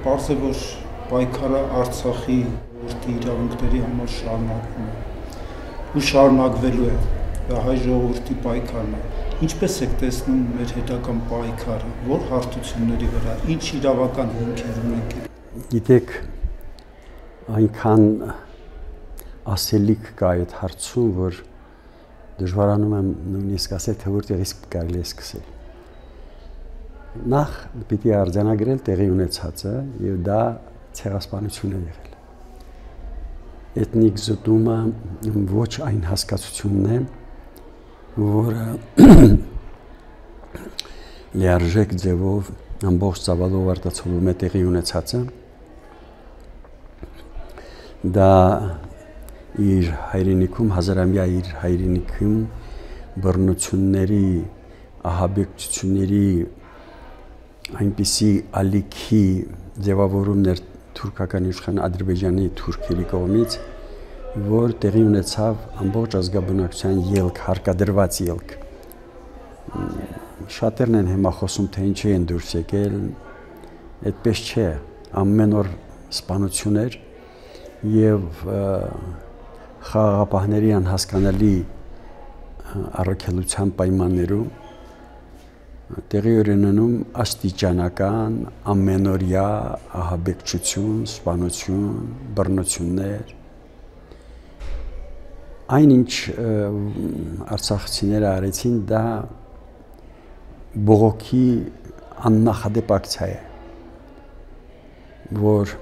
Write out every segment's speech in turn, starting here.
պարզ է, որ պայքարը Արցախի ժողովրդի իրավունքների համար շարունակվում է ու շարունակվելու է, դա հայ ժողովրդի պայքարն է։ Ինչպես եք տեսնում մեր հետագան պայքարը, որ հարթությունների վրա, ինչ իրավական հիմքեր ունենք։ Գիտեք, այնքան ասելիք կա այդ հարցում, որ դժվարանում եմ նույնիսկ ասել, թե որտեղից կարելի է սկսել։ Նախ պիտի արձանագրել տեղի ունեցածը եւ դա ցեղասպանություն է եղել։ Էթնիկ զտումը ոչ այն հասկացությունն է, որը լիարժեք ձևով ամբողջ ծավալով արտացոլում է տեղի ունեցածը։ Դա իր հայրենիքում, հազարամյա իր հայրենիքում բռնությունների, ահաբեկչությունների այնպիսի ալիքի ձևավորումներ թուրքական իշխան Ադրբեջանի թուրքերի կողմից, որ տեղի ունեցավ ամբողջ ազգաբնակության ելք, հարկադրված ելք։ Շատերն են հիմա խոսում, թե ինչի են դուրս եկել, այդպես չէ, ամեն օր սպանություն էր եւ խաղաղապահների անհասկանալի առաքելության պայմաններում տեղի ունենում աստիճանական, ամենօրյա ահաբեկչություն, սպանություն, բռնություններ։ Այնինչ արցախցիները արեցին, դա բողոքի աննախադեպ ակցիա է, որ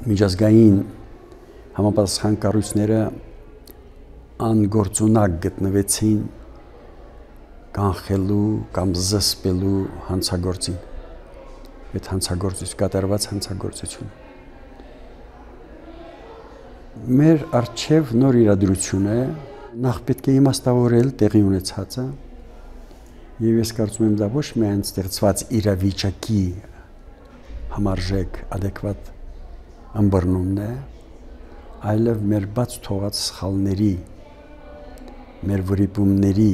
միջազգային համապատասխան կառույցները անգործունակ գտնվեցին կանխելու կամ զսպելու հանցագործին, այդ հանցագործություն, կատարված հանցագործություն։ Մեր առջև նոր իրադրություն է, նախ պետք է իմաստավորել տեղի ունեցածը, եւ ես կարծում եմ դա ոչ միայն ստեղծված իրավիճակի համարժեք, adekvat ըմբռնումն է, այլև մեր բաց թողած սխալների, մեր վրիպումների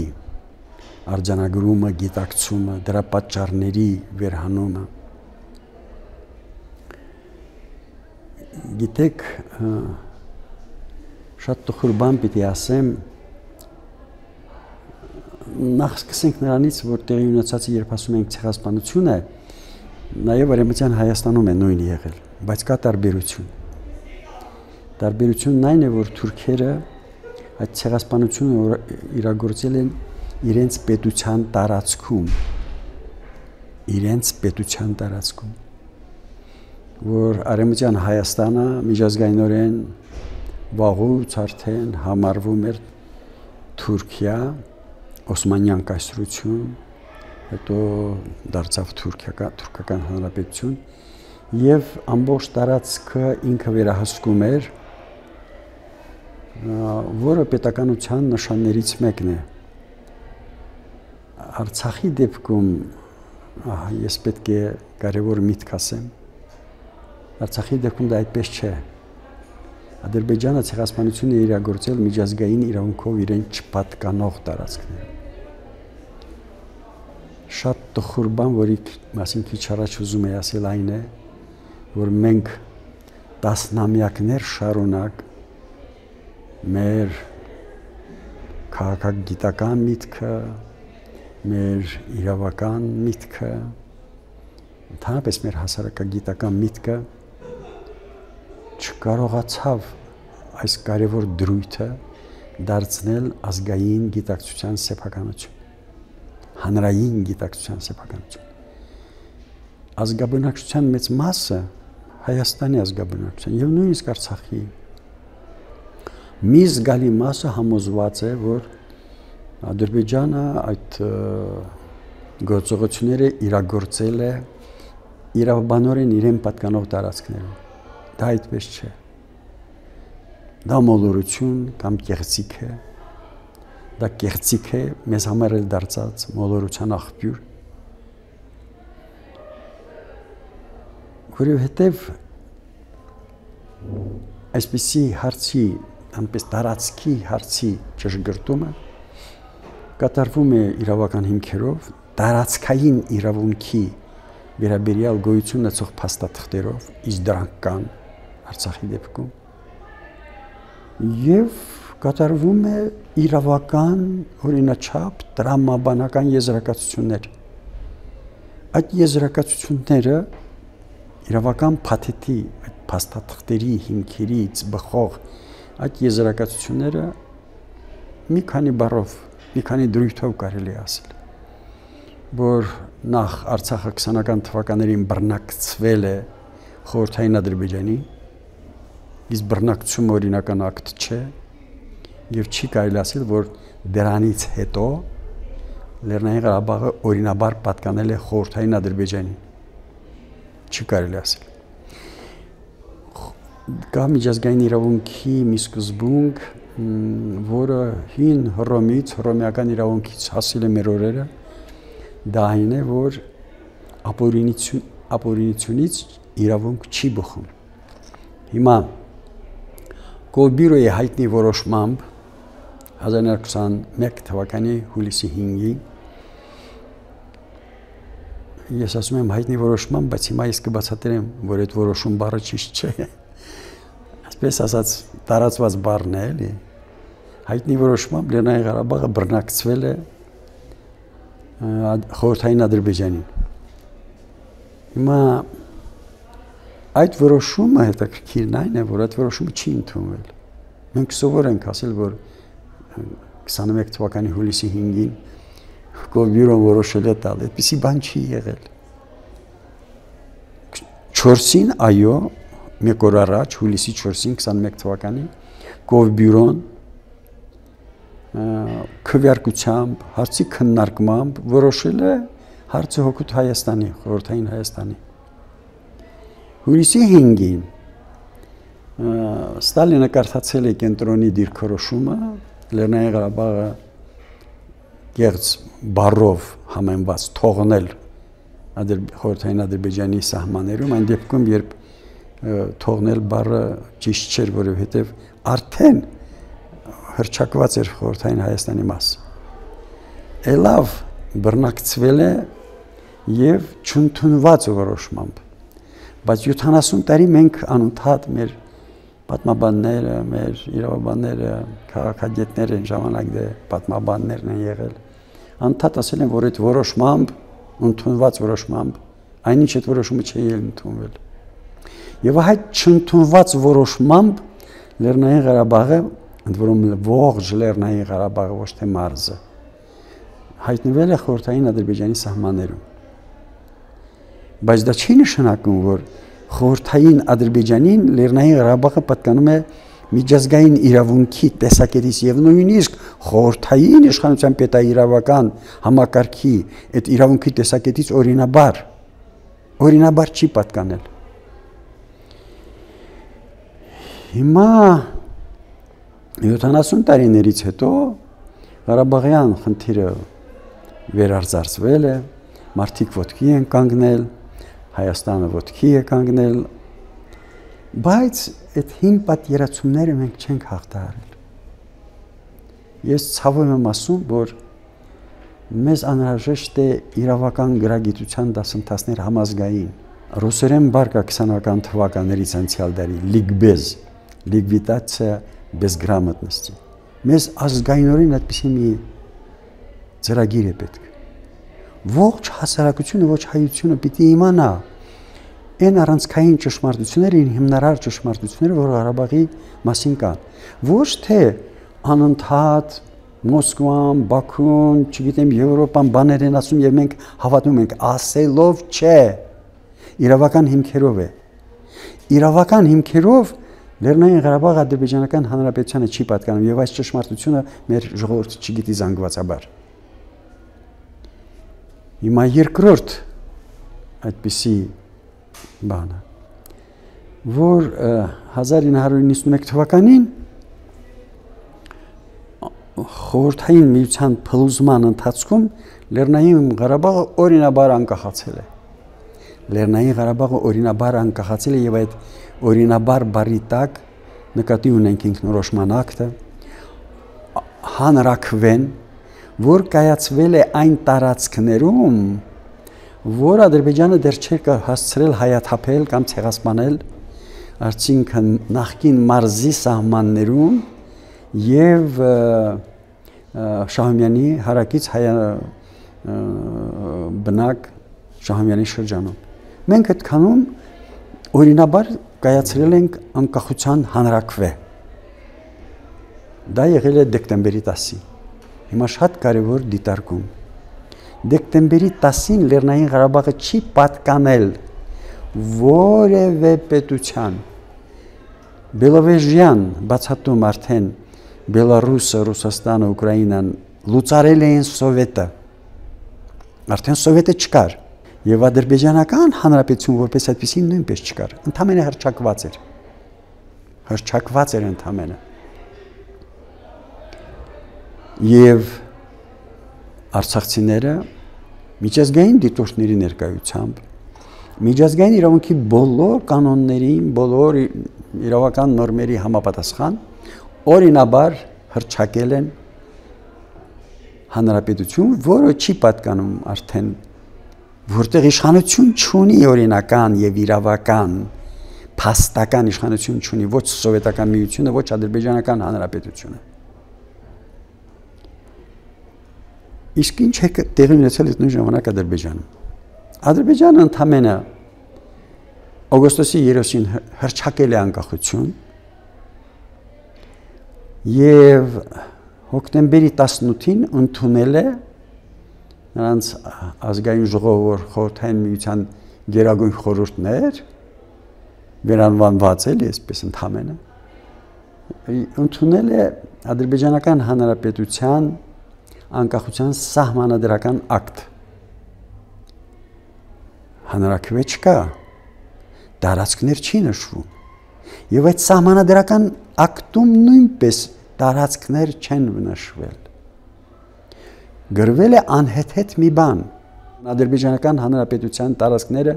արձանագրումը, գիտակցումը, դրա պատճառների վերհանումը։ Գիտեք, շատ տխուր բան պիտի ասեմ, նախ սկսենք նրանից, որ տեղի ունեցածը երբ ասում ենք ցեղասպանություն է, նաև Արևմտյան Հայաստանում է նույնը եղել, բայց կա տարբերություն։ Տարբերությունն այն է, որ թուրքերը այդ ցեղասպանությունը իրագործել են իրենց պետության տարածքում, որ Արևմտյան Հայաստանը միջազգայինորեն վաղուց արդեն համարվում էր Թուրքիա, Օսմանյան կայսրություն, հետո դարձավ թուրքական հանրապետություն եւ ամբողջ տարածքը ինքը վերահսկում էր, որը պետականության նշաններից մեկն է։ Արցախի դեպքում ես պետք է կարևոր միտք ասեմ, Արցախի դեպքում դա այդպես չէ։ Ադրբեջանը ցեղասպանություն է իրագործել միջազգային իրավունքով իրեն չպատկանող տարածքներում։ Շատ տխուր բան, որի մասին քիչ առաջ ուզում եի ասել, այն է, որ մենք տասնամյակներ շարունակ մեր քաղաքագիտական միտքը, մեր իրավական միտքը, ընդհանրապես մեր հասարակագիտական միտքը չկարողացավ այս կարևոր դրույթը դարձնել ազգային գիտակցության սեփականություն, հանրային գիտակցության սեփականություն։ Ազգաբնակչության մեծ մասը Հայաստանի ազգաբնակչության եւ նույնիսկ Արցախի մի զգալի մասը համոզված է, որ Ադրբեջանը այդ գործողությունները իրագործել է իրավաբանորեն իրեն պատկանող տարածքներում։ Դա այդպես չէ։ Դա մոլորություն կամ կեղծիք է։ Դա կեղծիք է, մեզ համար էլ դարձած մոլորության աղբյուր։ Որովհետև այսպիսի հարցի, այնպես տարածքի հարցի ճշգրտումը կատարվում է իրավական հիմքերով, տարածքային իրավունքի վերաբերյալ գոյություն ունեցող փաստաթղթերով, իսկ դրանք կան Արցախի դեպքում, եւ կատարվում է իրավական օրինաչափ տրամաբանական եզրակացություններ։ Այդ եզրակացությունները իրավական փաթեթի, այդ փաստաթղթերի հիմքերից բխող այդ եզրակացությունները մի քանի բառով, մի քանի դրույթով կարելի ասել, որ նախ Արցախը 20-ական թվականներին բռնակցվել է խորհրդային Ադրբեջանի, իսկ բռնակցությունը օրինական ակտ չէ, եւ չի կարելի ասել, որ դրանից հետո Լեռնային Ղարաբաղը օրինաբար պատկանել է խորհրդային Ադրբեջանին։ Չի կարելի ասել։ Կա միջազգային իրավունքի մի սկզբունք, որը հին Հռոմից, հռոմեական իրավունքից հասել է մեր օրերը, դա այն է, որ ապօրինությունից իրավունք չի բխում։ Հիմա Կովբիրոյի հայտնի որոշմամբ 1921 թվականի հուլիսի 5-ին ես ասում եմ հայտնի որոշմամբ, բայց հիմա ես կբացատրեմ, որ այդ որոշում բառը ճիշտ չէ։ Այսպես ասած տարածված բառն է, էլի։ Հայտնի որոշմամբ Լեռնային Ղարաբաղը բռնակցվել է խորհրդային Ադրբեջանին։ Հիմա այդ որոշումը հետաքրքիրն այն է, որ այդ որոշումը չի ընդունվել։ Մենք սովոր ենք ասել, որ 21 թվականի հուլիսի 5-ին Կովբիրոն որոշել է տալ, այդպիսի բան չի եղել։ 4-ին, այո, մեկ օր առաջ, հուլիսի 4-ին 21 թվականին Կովբիրոն քվեարկությամբ, հարցի քննարկմամբ որոշել է հարցը հօգուտ Հայաստանի, խորհրդային Հայաստանի։ Հուլիսի 5-ին Ստալինը կարդացել է կենտրոնի դիրքորոշումը, Լեռնային Ղարաբաղը կեղծ բառով համեմված թողնել խորհրդային Ադրբեջանի սահմաններում, այն դեպքում, երբ թողնել բառը ճիշտ չէր, որովհետև արդեն հռչակված էր խորհրդային Հայաստանի մասը։ Էլավ բռնակցվել է եւ չընդունված որոշմամբ։ Բայց 70 տարի մենք անընդհատ մեր պատմաբանները, մեր իրավաբանները, քաղաքագետները այն ժամանակ դե պատմաբաններն են եղել, անընդհատ ասել են, որ այդ որոշմամբ, ընդունված որոշմամբ, այնինչ այդ որոշումը չի ընդունվել։ Եվ այդ չընդունված որոշմամբ Լեռնային Ղարաբաղը, ընդ որում ողջ Լեռնային Ղարաբաղը, ոչ թե մարզը, հայտնվել է խորհրդային Ադրբեջանի սահմաններում։ Բայց դա չի նշանակում, որ խորհրդային Ադրբեջանին Լեռնային Ղարաբաղը պատկանում է միջազգային իրավունքի տեսակետից եւ նույնիսկ խորհրդային իշխանության պետաիրավական համակարգի այդ իրավունքի տեսակետից օրինաբար չի պատկանել։ Հիմա 70 տարիներից հետո Ղարաբաղյան խնդիրը վերարձակվել է, մարդիկ ոտքի են կանգնել, Հայաստանը ոտքի է կանգնել, բայց այդ հին պատկերացումները մենք չենք հաղթահարել։ Ես ցավով եմ ասում, որ մեզ անհրաժեշտ է իրավական գրագիտության դասընթացներ համազգային։ Ռուսերեն բառը 20-ական թվականներից անցյալ դարի լիգբեզ, լիգվիտացիա բեզգրամատնստի։ Մեզ ազգայինորեն այդպիսի մի ծրագիր է պետք։ Ողջ հասարակությունը, ոչ հայությունը պիտի իմանա այն առանցքային ճշմարտությունները, հիմնարար ճշմարտությունները, որ Ղարաբաղի մասին կան։ Ոչ թե անընդհատ Մոսկվան, Բաքուն, չգիտեմ, Եվրոպան բաներ են ասում եւ մենք հավատում ենք, ասելով չէ։ Իրավական հիմքերով է։ Իրավական հիմքերով Լեռնային Ղարաբաղը Ադրբեջանական Հանրապետությանը չի պատկանում եւ այս ճշմարտությունը մեր ժողովուրդը չգիտի զանգվածաբար։ Հիմա երկրորդ այդպիսի բանը, որ 1991 թվականին խորհրդային միության փլուզման ընթացքում Լեռնային Ղարաբաղը օրինաբար անկախացել է։ Լեռնային Ղարաբաղը օրինաբար անկախացել է եւ այդ օրինաբար բառի տակ նկատի ունենք ինքնորոշման ակտը, հանրաքվեն, որ կայացվել է այն տարածքներում, որ Ադրբեջանը դեռ չէր հասցրել հայաթափել կամ ցեղասպանել արդյունքն նախկին մարզի սահմաններում եւ Շահումյանի հարակից բնակ Շահումյանի շրջանում։ Մենք այդքանում օրինաբար կայացրել ենք անկախության հանրաքվե։ Դա եղել է դեկտեմբերի 10-ին։ Հիմա շատ կարևոր դիտարկում։ Դեկտեմբերի 10-ին Լեռնային Ղարաբաղը չի պատկանել որևէ պետության։ Բելովեժյան բացատում արդեն Բելարուսը, Ռուսաստանը, Ուկրաինան լուծարել էին Սովետը։ Արդեն Սովետը չկար։ Եվ ադրբեջանական հանրապետություն որպես այդպեսին նույնպես չկար։ Ընդամենը հռչակված էր։ Հռչակված էր ընդամենը։ Եվ արցախցիները միջազգային դիտորդների ներկայությամբ միջազգային իրավունքի բոլոր կանոններին, բոլոր իրավական նորմերի համապատասխան օրինաբար հռչակել են հանրապետություն, որը չի պատկանում արդեն, որտեղ իշխանություն չունի օրինական եւ իրավական, փաստական իշխանություն չունի ոչ սովետական միությունը, ոչ ադրբեջանական հանրապետությունը։ Իսկ ինչ է տեղի ունեցել այդ նույն ժամանակ Ադրբեջանում։ Ադրբեջանը ընդամենը օգոստոսի 30-ին հռչակել է անկախություն եւ հոկտեմբերի 18-ին ընդունել է նրանց ազգային ժողովուրդ խորհրդային միության գերագույն խորհուրդներ վերանվանված էլ այսպես ընդամենը ընդունել է ադրբեջանական հանրապետության անկախության սահմանադրական ակտ։ Հանրաքվե չկա, տարածքներ չի նշվում։ Եվ այդ սահմանադրական ակտում նույնպես տարածքներ չեն նշվել։ Գրվել է անհեթեթ մի բան։ Ադրբեջանական հանրապետության տարածքները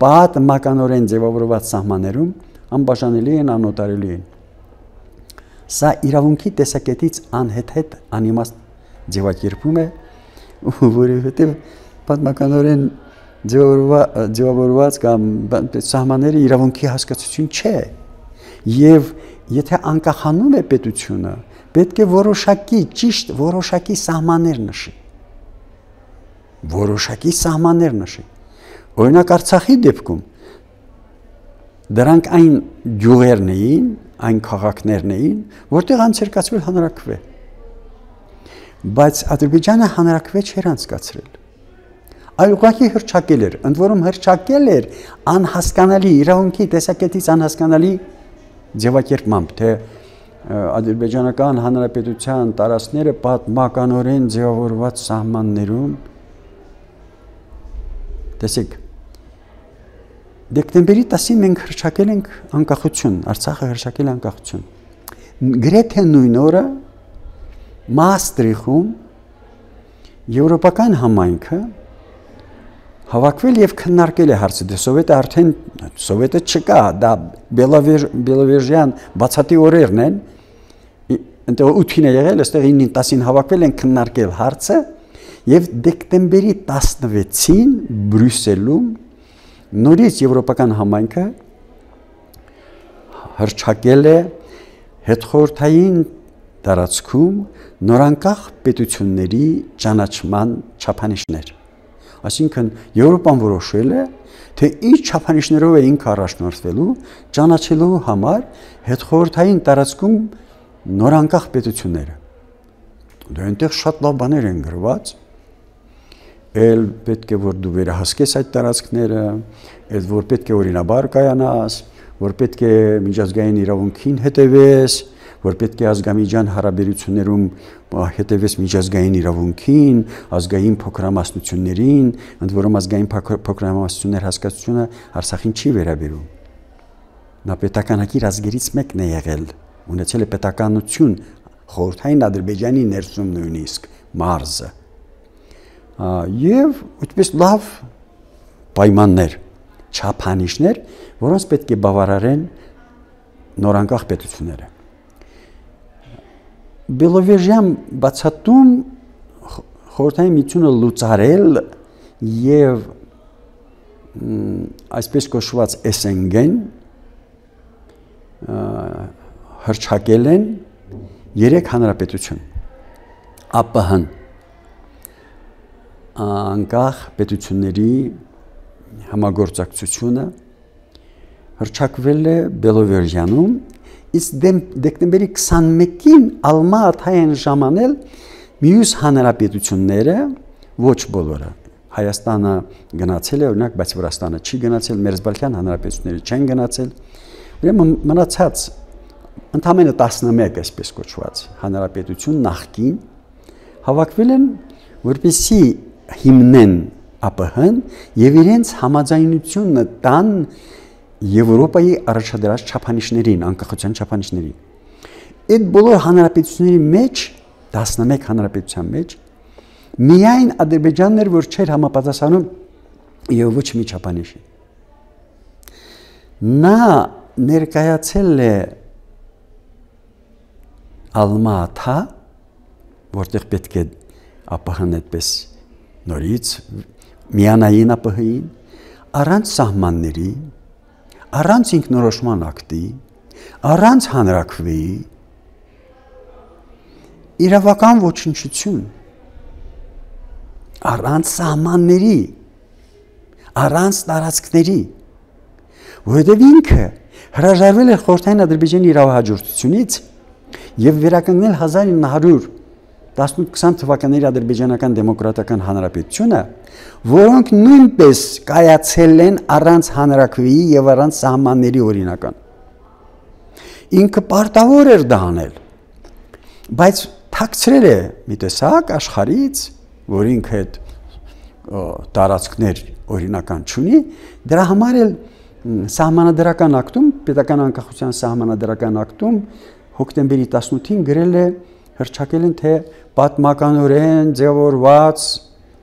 պատմականորեն ձևավորված սահմաններում անբաժանելի են, անօտարելի են։ Սա իրավունքի տեսակետից անհեթեթ անիմաստ ձևակերպում է, որովհետև պատմականորեն ձևավորված կամ սահմանները իրավունքի հասկացություն չէ։ Եվ եթե անկախանում է պետությունը, պետք է որոշակի ճիշտ որոշակի սահմաններ նշի։ Որոշակի սահմաններ նշի։ Օրինակ Արցախի դեպքում դրանք այն գյուղերն էին, այն քաղաքներն էին, որտեղ անցկացվել հանրաքվե։ Բայց Ադրբեջանը հանրաքվե չէր անցկացրել։ Այլ ուղղակի հռչակել էր, ընդ որում հռչակել էր անհասկանալի իրավունքի տեսակետից անհասկանալի ձևակերպմամբ, թե ադրբեջանական հանրապետության տարածքները պատմականորեն ձևավորված սահմաններում տեսեք դեկտեմբերի 10-ին մենք հռչակել ենք անկախություն, Արցախը հռչակել է անկախություն։ Գրեթե նույն օրը Մաստրիխում եվրոպական համայնքը հավաքվել եւ քննարկել է հարցը, դե Սովետը չկա, դա Բելովեժյան բացատի օրերն են, այնտեղ 8-ին է եղել, այստեղ 9-ին 10-ին հավաքվել են քննարկել հարցը եւ դեկտեմբերի 16-ին Բրյուսելում նորից եվրոպական համայնքը հռչակել է հետխորհրդային տարածքում նորանկախ պետությունների ճանաչման չափանիշներ։ Այսինքն Եվրոպան որոշել է, թե ինչ չափանիշներով է ինքը առաջնորդվելու ճանաչելու համար հետխորհրդային տարածքում նորանկախ պետությունները։ Դա այնտեղ շատ լավ բաներ են գրված, էլ պետք է որ դու վերահսկես այդ տարածքները, էլ որ պետք է օրինաբար կայանաս, որ պետք է միջազգային իրավունքին հետևես, որ պետք է ազգամիջյան հարաբերություններում հետևես միջազգային իրավունքին, ազգային փոքրամասնություններին, ընդ որում ազգային փոքրամասնություններ հասկացությունը Արցախին չի վերաբերում։ Նա պետականակիր ազգերից մեկն է եղել, ունեցել է պետականություն խորհրդային Ադրբեջանի ներսում նույնիսկ մարզը։ Եվ այդպես լավ պայմաններ, չափանիշներ, որոնց պետք է բավարարեն նորանկախ պետությունները։ Բելովեժյան բացատում խորհրդային միությունը լուծարել եւ այսպես կոչված SNG-ն հռչակել են 3 հանրապետություն ԱՊՀ-ն անկախ պետությունների համագործակցությունը հռչակվել է Բելովեժյանում, իսկ դեկտեմբերի 21-ին Ալմա-Աթա են ժամանել մյուս հանրապետությունները, ոչ բոլորը։ Հայաստանը գնացել է, օրինակ, բայց Վրաստանը չի գնացել, Մերձբալթյան հանրապետությունները չեն գնացել։ Ուրեմն մնացած ընդամենը 11 այսպես կոչված հանրապետություն նախկին հավաքվել են, որպեսզի հիմնեն ԱՊՀ-ն եւ իրենց համաձայնությունը տան Եվրոպայի առաջադրած չափանիշներին, անկախության չափանիշներին։ Այդ բոլոր հանրապետությունների մեջ, 11 հանրապետության մեջ, միայն Ադրբեջանն էր, որ չէր համապատասխանում եւ ոչ մի չափանիշի։ Նա ներկայացել է Ալմա-Աթա, որտեղ պետք է ԱՊՀ-ն այդպես նորից միանային ԱՊՀ-ին, առանց սահմանների, առանց ինքնորոշման ակտի, առանց հանրաքվեի, իրավական ոչնչություն, առանց սահմանների, առանց տարածքների, որովհետև ինքը հրաժարվել է խորհրդային Ադրբեջանի իրավահաջորդությունից եւ վերականգնել 1918-20 թվականների ադրբեջանական դեմոկրատական հանրապետությունը, որոնք նույնպես կայացել են առանց հանրաքվեի եւ առանց սահմանների օրինական։ Ինքը պարտավոր էր դա անել, բայց թաքցրել է մի տեսակ աշխարհից, որ ինքը այդ տարածքներ օրինական չունի, դրա համար էլ սահմանադրական ակտում, պետական անկախության սահմանադրական ակտում հոկտեմբերի 18-ին գրել է հռչակել են, թե պատմականորեն ձևավորված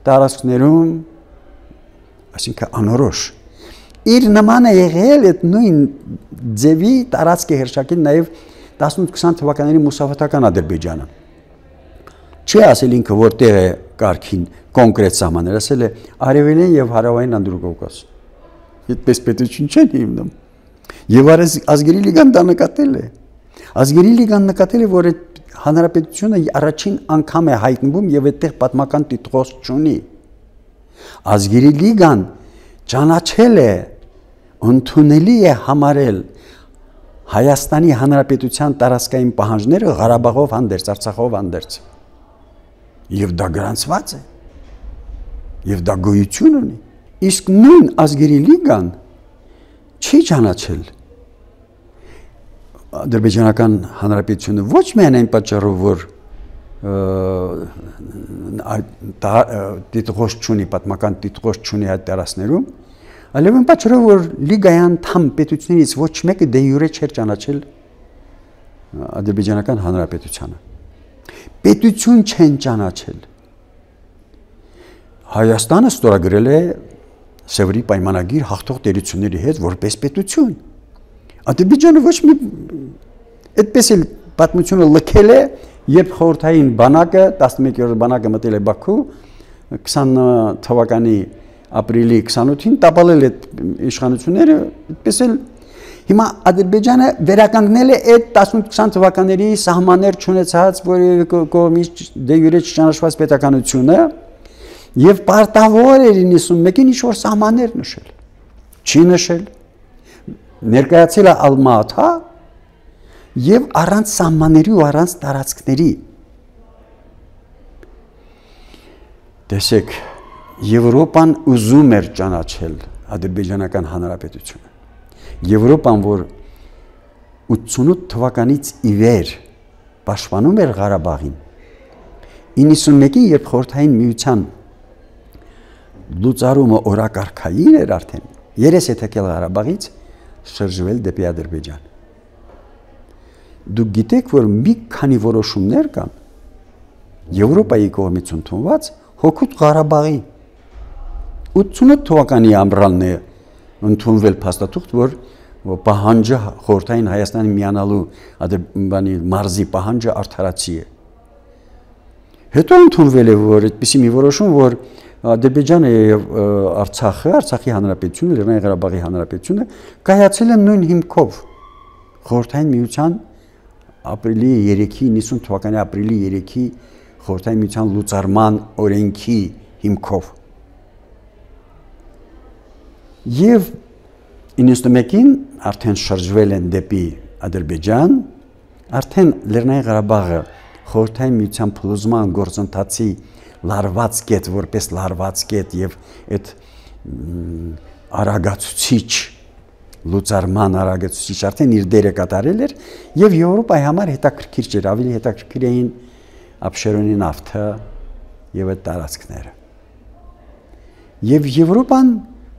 տարածքներում, այսինքն անորոշ, իր նմանը եղել այդ նույն ձևի տարածք է հռչակել նաև 18-20 թվականների մուսավաթական Ադրբեջանը։ Չի ասել ինքը որտեղ է կարգին կոնկրետ սահմաններ, ասել է Արևելյան եւ Հարավային Անդրկովկաս։ Այդպես պետություն չեն հիմնում։ Եվ ազգերի լիգան դա նկատել է։ Ազգերի լիգան նկատել է, որ այդ հանրապետությունը առաջին անգամ է հայտնվում եւ այդտեղ պատմական տիտղոս չունի։ Ազգերի լիգան ճանաչել է, ընդունելի է համարել Հայաստանի հանրապետության տարածքային պահանջները Ղարաբաղով հանդերձ, Արցախով հանդերձ։ Եվ դա գրանցված է։ Եվ դա գոյություն ունի։ Իսկ նույն ազգերի լիգան չի ճանաչել ադրբեջանական հանրապետությունը ոչ միայն այն պատճառով, որ տիտղոս չունի, պատմական տիտղոս չունի այդ տարածքներում, այլև այն պատճառով, որ լիգայի անդամ պետություններից ոչ մեկը դե յուրե չէր ճանաչել ադրբեջանական հանրապետությանը։ Պետություն չեն ճանաչել։ Հայաստանը ստորագրել է Սևրի պայմանագիր հաղթող տերությունների հետ որպես պետություն։ Ադրբեջանը ոչ մի այդպես էլ պատմությունը լքել է, երբ խորհրդային բանակը 11-րդ բանակը մտել է Բաքու 20 թվականի ապրիլի 28-ին տապալել այդ իշխանությունները, այդպես էլ հիմա Ադրբեջանը վերականգնել է այդ 18-20 թվականների սահմաններ չունեցած որևէ կողմից դե յուրե չճանաչված պետականությունը եւ պարտավոր էր 91-ին ինչ-որ սահմաններ նշել։ Չի նշել։ Ներկայացել է Ալմա-Աթա եւ առանց սահմանների ու առանց տարածքների։ Տեսեք, Եվրոպան ուզում էր ճանաչել ադրբեջանական հանրապետությունը։ Եվրոպան, որ 88 թվականից ի վեր պաշտպանում էր Ղարաբաղին, 91-ին, երբ խորհրդային միության լուծարումը օրակարգային էր արդեն, երես է թեքել Ղարաբաղից, շրջվել դեպի Ադրբեջան։ Դուք գիտեք, որ մի քանի որոշումներ կան Եվրոպայի կողմից ընդունված հօգուտ Ղարաբաղի 88 թվականի ամռանն է ընդունվել փաստաթուղթ, որ պահանջը խորհրդային Հայաստանի միանալու Ադրբեջանի մարզի պահանջը արդարացի է։ Հետո ընդունվել է, որ այդպիսի մի որոշում, որ Ադրբեջանը եւ Արցախը, Արցախի հանրապետությունը, Լեռնային Ղարաբաղի հանրապետությունը կայացել են նույն հիմքով խորհրդային միության ապրիլի 3-ի 90 թվականի ապրիլի 3-ի խորհրդային միության լուծարման օրենքի հիմքով եւ 91-ին արդեն շրջվել են դեպի Ադրբեջան, արդեն Լեռնային Ղարաբաղը խորհրդային միության փլուզման գործընթացի լարված կետ, որպես լարված կետ եւ այդ արագացուցիչ լուծարման արագացուցիչ արդեն իր դերը կատարել էր եւ Եվրոպայի համար հետաքրքիր չէր, ավելի հետաքրքիր էին Աբշերոնի նավթը եւ այդ տարածքները։ Եվ Եվրոպան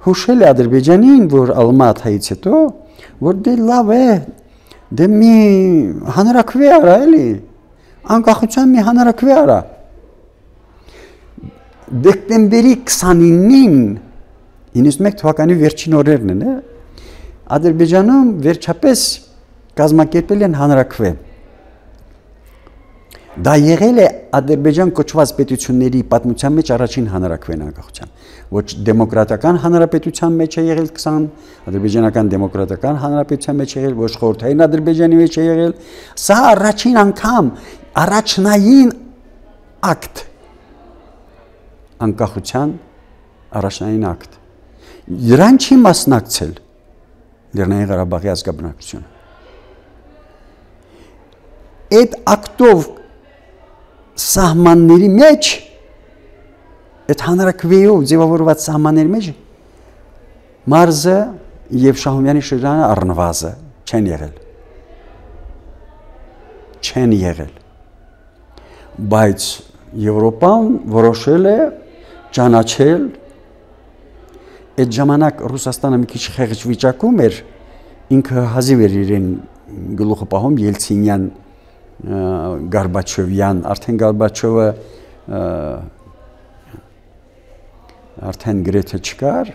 հուշել է Ադրբեջանին, որ Ալմաթայից հետո, որ դե լավ է, դե մի հանրաքվե արա էլի, անկախության մի հանրաքվե արա։ Դեկտեմբերի 29-ին 91 թվականի վերջին օրերն են, Ադրբեջանում վերջապես կազմակերպել են հանրաքվե։ Դա եղել է Ադրբեջան կոչված պետությունների պատմության մեջ առաջին հանրաքվեն անկախության։ Ոչ դեմոկրատական հանրապետության մեջ է եղել 20, ադրբեջանական դեմոկրատական հանրապետության մեջ է եղել, ոչ խորհրդային Ադրբեջանի մեջ է եղել։ Սա առաջին անգամ առաջնային ակտ անկախության առաջնային ակտ։ Դրան չի մասնակցել Լեռնային Ղարաբաղի ազգաբնակչությունը։ Այդ ակտով սահմանների մեջ, այդ հանրաքվեով ձևավորված սահմանների մեջ մարզը եւ Շահումյանի շրջանը առնվազը չեն եղել։ Չեն եղել։ Բայց Եվրոպան որոշել է ճանաչել այդ ժամանակ Ռուսաստանը մի քիչ խեղճ վիճակում էր, ինքը հազիվ էր իրեն գլուխը պահում Ելցինյան Գորբաչովյան, արդեն Գորբաչովը արդեն գրեթե չկար,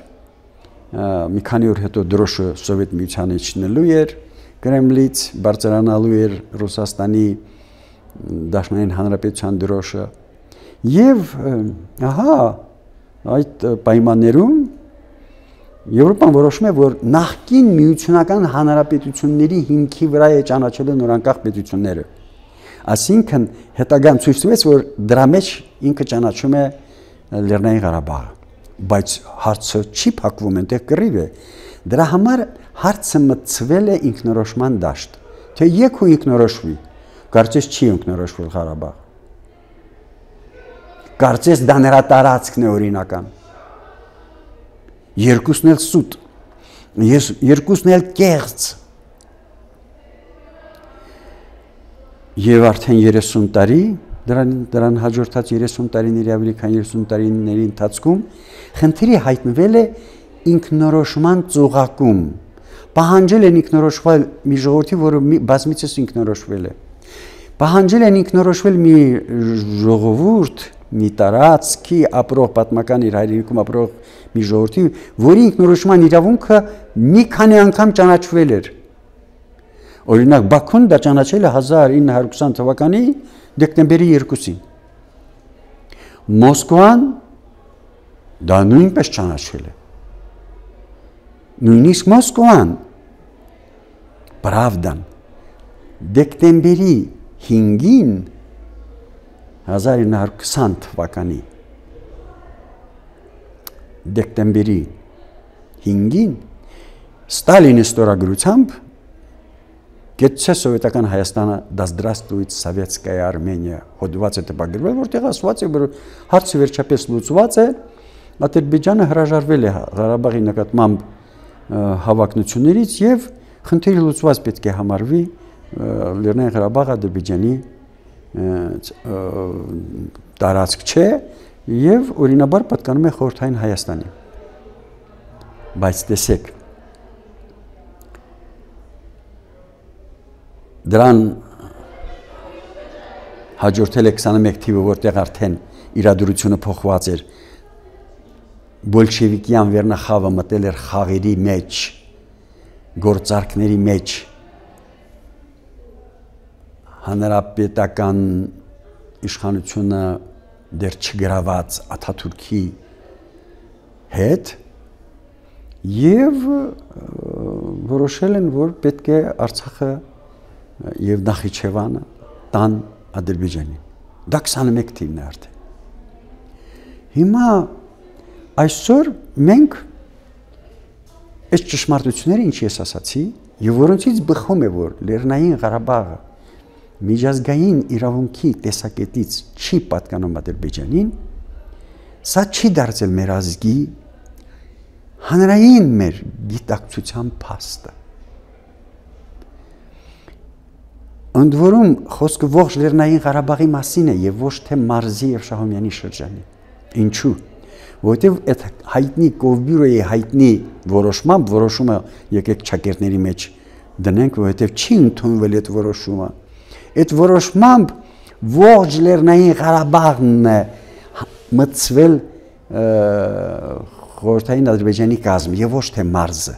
մի քանի օր հետո դրոշը Սովետ միությանը իջնելու էր Կրեմլից, բարձրանալու էր Ռուսաստանի Դաշնային Հանրապետության դրոշը եւ ահա այդ պայմաններում Եվրոպան որոշում է, որ նախկին միությունական հանրապետությունների հիմքի վրա է ճանաչել նորանկախ պետությունները։ Այսինքն հետագան ցույց տվեց, որ դրա մեջ ինքը ճանաչում է Լեռնային Ղարաբաղը, բայց հարցը չի փակվում, այնտեղ կռիվ է։ Դրա համար հարցը մտցվել է ինքնորոշման դաշտ, թե եք ու ինքնորոշվի, կարծես չի ինքնորոշվել Ղարաբաղը։ Կարծես դա նրա տարածքն է օրինական։ Երկուսն էլ սուտ, երկուսն էլ կեղծ։ Եվ արդեն 30 տարի, դրան հաջորդած 30 տարիների ավելի քան 30 տարիների ընթացքում խնդիրը հայտնվել է ինքնորոշման ծուղակում։ Պահանջել են ինքնորոշվել մի ժողովրդի, որը բազմիցս ինքնորոշվել է։ Պահանջել են ինքնորոշվել մի ժողովուրդ, մի տարածքի ապրող պատմական իր հայրենիքում ապրող մի ժողովրդի, որի ինքնորոշման իրավունքը մի քանի անգամ ճանաչվել էր։ Օրինակ Բաքուն դա ճանաչել է 1920 թվականի դեկտեմբերի 2-ին։ Մոսկվան դա նույնպես ճանաչել է։ Նույնիսկ Մոսկվան Պրավդան դեկտեմբերի 5-ին 1920 թվականի դեկտեմբերի 5-ին Ստալինի ստորագրությամբ Գեցե սովետական Հայաստանը դա здравствует советская Армения հոդված է տպագրվել, որտեղ ասված է, որ հարցը վերջապես լուծված է, Ադրբեջանը հրաժարվել է Ղարաբաղի նկատմամբ հավակնություններից եւ խնդիրը լուծված պետք է համարվի Լեռնային Ղարաբաղը Ադրբեջանի տարածք չէ եւ օրինաբար պատկանում է խորհրդային Հայաստանի։ Բայց տեսեք դրան հաջորդել է 21 թիվը, որտեղ արդեն իրադրությունը փոխված էր։ Բոլշևիկյան վերնախավը մտել էր խաղերի մեջ, գործարքների մեջ, հանրապետական իշխանությունը դեռ չգրաված Աթաթուրքի հետ եւ որոշել են, որ պետք է Արցախը եւ Նախիջևանը տան Ադրբեջանին։ Դա 21 թիվն է արդեն։ Հիմա այսօր մենք այս ճշմարտությունները, ինչ ես ասացի, եւ որոնցից բխում է, որ Լեռնային Ղարաբաղը միջազգային իրավունքի տեսակետից չի պատկանում Ադրբեջանին, սա չի դարձել մեր ազգի հանրային մեր գիտակցության փաստը։ Ընդ որում խոսքը ողջ Լեռնային Ղարաբաղի մասին է եւ ոչ թե Մարզի եւ Շահումյանի շրջանի։ Ինչու՞։ Որովհետեւ այդ հայտնի Կովբյուրոյի հայտնի որոշումը եկեք ճակերտների մեջ դնենք, որովհետեւ չի ընդունվել այդ որոշումը։ Այդ որոշմամբ ողջ Լեռնային Ղարաբաղն է մտցվել խորհրդային Ադրբեջանի կազմ եւ ոչ թե Մարզը։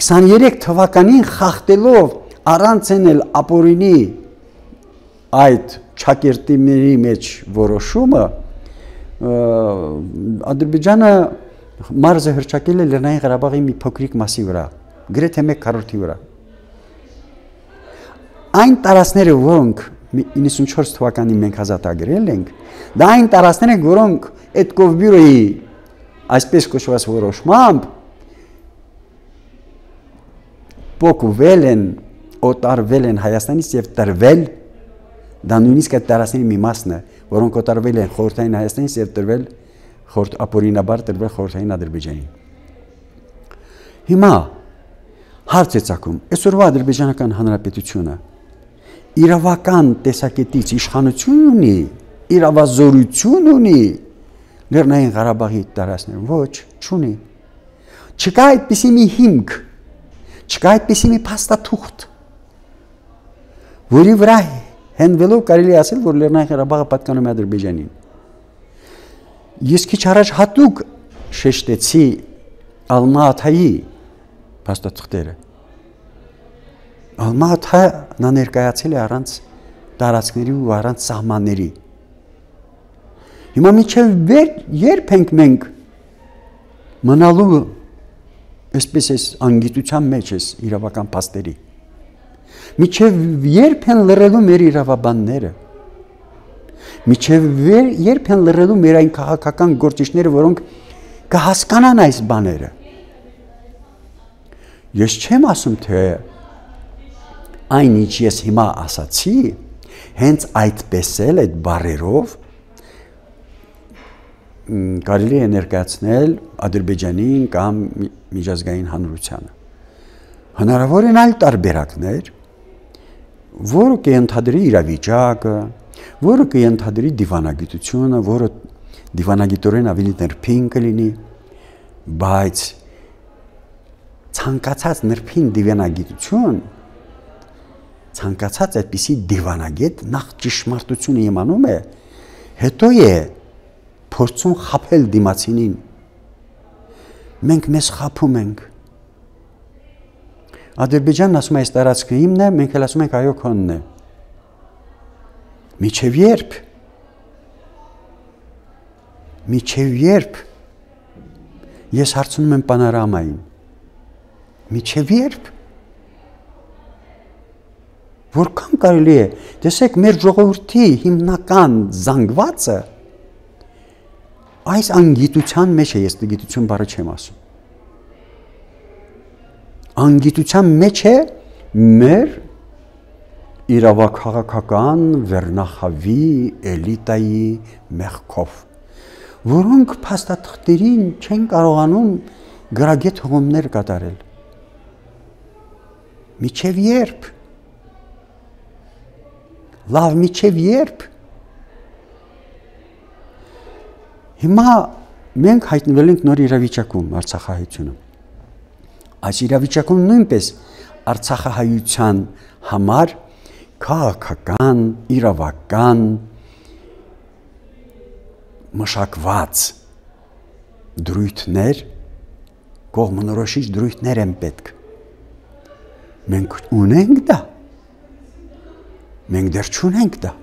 23 թվականին խախտելով առանց էնել ապօրինի այդ ճակերտների մեջ որոշումը Ադրբեջանը Մարզը հրճակել է Լեռնային Ղարաբաղի մի փոքրիկ մասի վրա, գրեթե 1/4-ի վրա։ Այն տարածքները, որոնք 94 թվականին մենք ազատագրել ենք, դա այն տարածքներ են, որոնք այդ Կովբյուրոյի այսպես կոչված որոշմամբ փոխվել են, օտարվել են Հայաստանից եւ տրվել, դա նույնիսկ այդ տարածքների մի մասն է, որոնք օտարվել են խորհրդային Հայաստանից եւ տրվել ապօրինաբար տրվել խորհրդային Ադրբեջանին։ Հիմա հարց է ծագում, այսօրվա Ադրբեջանական Հանրապետությունը իրավական տեսակետից իշխանություն ունի, իրավազորություն ունի Լեռնային Ղարաբաղի տարածքներում, ոչ, չունի։ Չկա այդպիսի մի հիմք, չկա այդպիսի մի փաստաթուղթ, որի վրա հենվելով կարելի ասել, որ Լեռնային Ղարաբաղը պատկանում է Ադրբեջանին։ Ես քիչ առաջ հատուկ շեշտեցի Ալմա-Աթայի փաստաթղթերը։ Ալմա-Աթը նա ներկայացել է առանց տարածքների ու առանց սահմանների։ Հիմա միջև երբ ենք մենք մնալու այսպես էս անգիտության մեջ էս իրավական փաստերի։ Միջև երբ են լռելու մեր իրավաբանները։ Միջև երբ են լռելու մեր այն քաղաքական գործիչները, որոնք կհասկանան այս բաները։ Ես չեմ ասում, թե այն ինչ ես հիմա ասացի, հենց այդպես էլ այդ բառերով կարելի է ներկայացնել Ադրբեջանին կամ միջազգային հանրությանը։ Հնարավոր են այլ տարբերակներ, որը կընդհանրի իրավիճակը, որը կընդհանրի դիվանագիտությունը, որը դիվանագիտորեն ավելի նրբին կլինի, բայց ցանկացած նրբին դիվանագիտություն, ցանկացած այդպիսի դիվանագետ նախ ճշմարտությունը իմանում է, հետո է փորձում խաբել դիմացինին։ Մենք մեզ խաբում ենք։ Ադրբեջանն ասում է այս տարածքը իմն է, մենք էլ ասում ենք այո քոնն է։ Միջև երբ։ Միջև երբ։ Ես հարցնում եմ պանորամային։ Միջև երբ։ Որքան կարելի է։ Տեսեք, մեր ժողովրդի հիմնական զանգվածը այս անգիտության մեջ է, ես գիտություն բառը չեմ ասում։ Անգիտության մեջ է մեր իրավաքաղաքական վերնախավի էլիտայի մեղքով, որոնք փաստաթղթերին չեն կարողանում գրագետ հղումներ կատարել։ Միջև երբ։ Լավ, միջև երբ։ Հիմա մենք հայտնվել ենք նոր իրավիճակում Արցախահայությունում։ Այս իրավիճակում նույնպես Արցախահայության համար քաղաքական, իրավական մշակված դրույթներ, կողմնորոշիչ դրույթներ են պետք։ Մենք ունենք դա։ Մենք դեռ չունենք դա։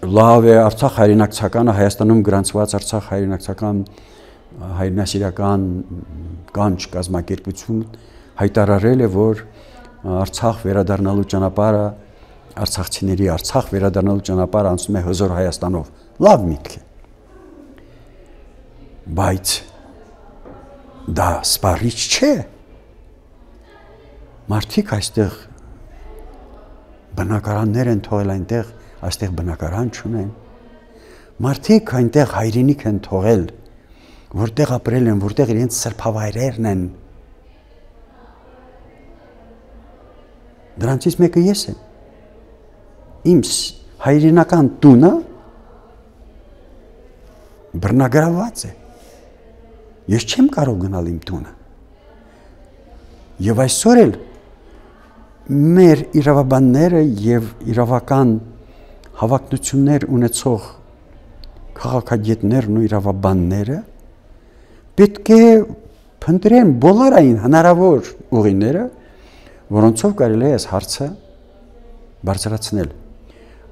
լավ է Արցախ հայրենակցականը Հայաստանում գրանցված Արցախ հայրենակցական հայրենասիրական կանչ կազմակերպություն հայտարարել է, որ Արցախ վերադառնալու ճանապարհը արցախցիների Արցախ վերադառնալու ճանապարհը անցնում է հզոր Հայաստանով։ Լավ միտք է։ Բայց դա սպառիչ չէ։ Մարդիկ այստեղ բնակարաններ են թողել այնտեղ, այստեղ բնակարան չունեն։ Մարդիկ այնտեղ հայրենիք են թողել, որտեղ ապրել են, որտեղ իրենց սրբավայրերն են։ Դրանցից մեկը ես եմ։ Իմ հայրենական տունը բռնագրավված է։ Ես չեմ կարող գնալ իմ տունը։ Եվ այսօր էլ մեր իրավաբանները եւ իրավական հավակնություններ ունեցող քաղաքագետներն ու իրավաբանները պետք է փնտրեն բոլոր այն հնարավոր ուղիները, որոնցով կարելի է այս հարցը բարձրացնել։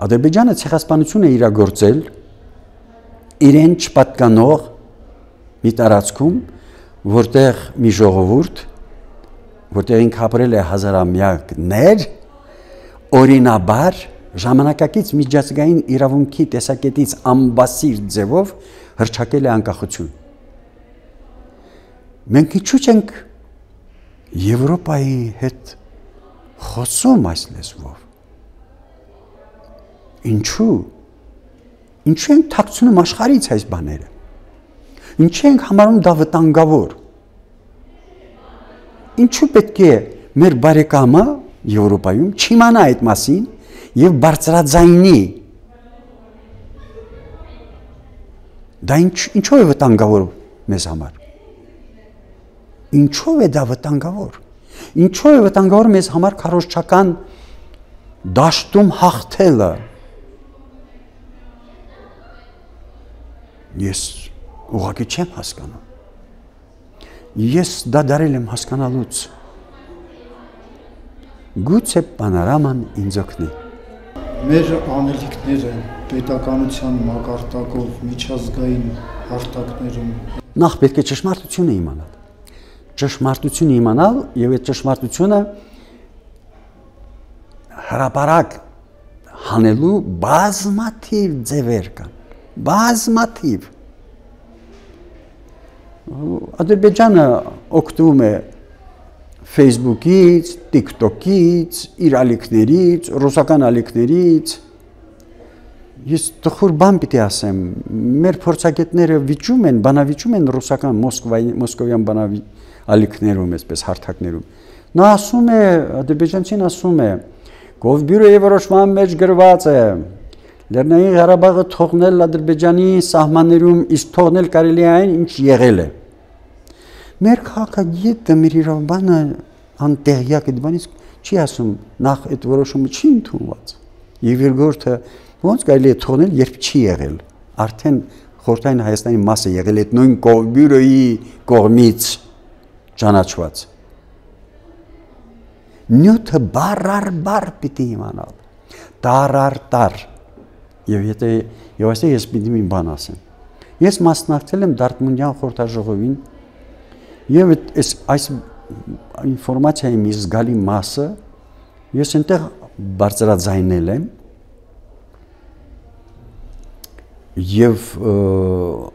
Ադրբեջանը ցեղասպանություն է իրագործել իրեն չպատկանող մի տարածքում, որտեղ մի ժողովուրդ, որտեղ ինքը ապրել է հազարամյակներ, օրինաբար ժամանակակից միջազգային իրավունքի տեսակետից ամբասիր ձևով հռչակել է անկախություն։ Մենք ինչու՞ չենք Եվրոպայի հետ խոսում այս լեզվով։ Ինչու ենք թաքցնում աշխարհից այս բաները։ Ինչու ենք համարում դա վտանգավոր։ Ինչու պետք է մեր բարեկամը Եվրոպայում չիմանա այդ մասին եւ բարձրաձայնի։ Դա ինչու է վտանգավոր մեզ համար։ Ինչու է դա վտանգավոր։ Ինչու է վտանգավոր մեզ համար քարոզչական դաշտում հաղթելը։ Ես ուղղակի չեմ հասկանում։ Ես դա դարել եմ հասկանալուց։ Գուցե պանորաման ինձ օգնի։ Մեր անելիքները պետականության մակարդակով միջազգային հարթակներում նախ պետք է ճշմարտությունը իմանալ։ Ճշմարտությունը իմանալ եւ այդ ճշմարտությունը հրապարակ հանելու բազմաթիվ ձևեր կան։ Բազմաթիվ։ Ադրբեջանը օգտվում է Facebook-ից, TikTok-ից, իր ալիքներից, ռուսական ալիքներից։ Ես տխուր բան պիտի ասեմ, մեր փորձագետները վիճում են, բանավիճում են ռուսական մոսկովյան ալիքներում, այսպես հարթակներում։ Նա ասում է, ադրբեջանցին ասում է, Գովբյուրոյի որոշման մեջ գրված է, Լեռնային Ղարաբաղը թողնել Ադրբեջանի սահմաններում, իսկ թողնել կարելի է այն, ինչ եղել է։ Մեր քաղաքագետը, մեր իրավաբանը անտեղյակ այդ բանից չի ասում, նախ այդ որոշումը չի ընդունված։ Եվ երկրորդը ոնց կարելի է թողնել, երբ չի եղել։ Արդեն խորհրդային Հայաստանի մաս է եղել այդ նույն Գովբյուրոյի կողմից ճանաչված։ Նյութը բառ պիտի իմանալ, տար։ Եվ այստեղ ես պիտի մի բան ասեմ։ Ես մասնակցել եմ Դարտմունդյան խորհրդաժողովին եւ այս ինֆորմացիայի մի զգալի մասը ես այնտեղ բարձրաձայնել եմ եւ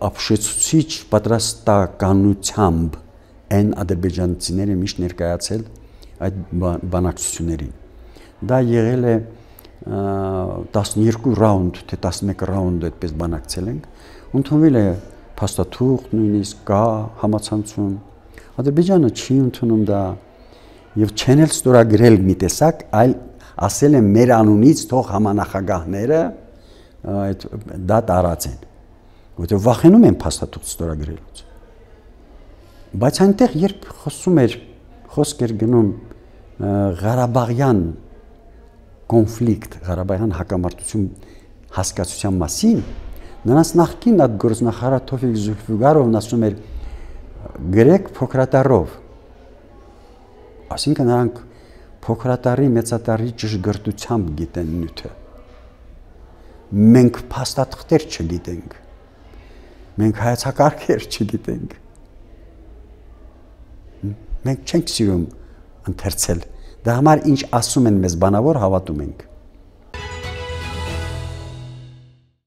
ապշեցուցիչ պատրաստականությամբ այն ադրբեջանցիները միշտ ներկայացել այդ բանակցություններին։ Դա եղել է 12 ռաունդ, թե 11 ռաունդ այդպես բանակցել ենք, ընդունվել է փաստաթուղթ, նույնիսկ կա համացանցում։ Ադրբեջանը չի ընդունում դա եւ չեն էլ ստորագրել մի տեսակ, այլ ասել են մեր անունից թող համանախագահները դա տարածեն, որտեղ վախենում են փաստաթուղթ ստորագրելուց։ Բայց այնտեղ երբ խոսք էր գնում Ղարաբաղյան կոնֆլիկտ, Ղարաբաղյան հակամարտություն հասկացության մասին, նրանց նախկին արտգործնախարար Թովֆիկ Զուլֆիգարովն ասում էր գրեք փոքրատարով, այսինքն նրանք փոքրատարի մեծատարի ճշգրտությամբ գիտեն նյութը։ մենք փաստաթղթեր չգիտենք, մենք հայեցակարգեր չգիտենք, մենք չենք սիրում ընթերցել, դա համար ինչ ասում են մեզ բանավոր հավատում ենք։